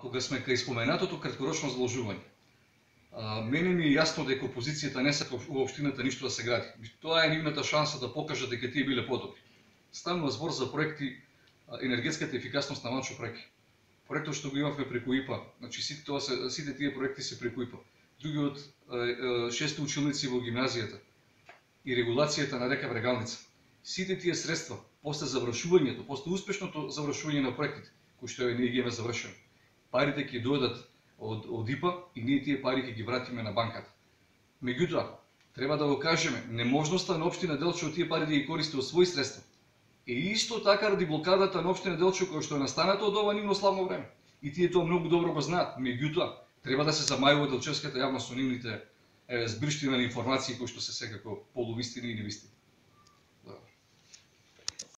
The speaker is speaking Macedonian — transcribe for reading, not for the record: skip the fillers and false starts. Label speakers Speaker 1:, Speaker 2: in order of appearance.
Speaker 1: кога сме кај споменатото краткорочно заложување. Мене ми е јасно дека опозицијата не сака во општината ништо да се гради. Тоа е нивната шанса да покажат дека тие биле подобри. Станува збор за проекти енергетската ефикасност на Манчо Преки. Проектот што го имавме преку ИПА, значи сите тие проекти се преку ИПА. Другиот 6 училници во гимназијата и регулацијата на река Брегалница. Сите тие средства, после завршувањето, после успешното завршување на проектите, кои што ние ги имаме завршено, парите ќе дојдат од ИПА и ние тие пари ќе ги вратиме на банката. Меѓутоа, треба да го кажеме, неможноста на општина Делчево тие пари да ги користи од своји средства. И исто така ради блокадата на општина Делчево која што е настаната од ова нивно славно време. И тие тоа многу добро го знаат. Меѓутоа, треба да се замајува делчевската јавност со нивните збирштина на информации кои што се секако полувистини и невистини.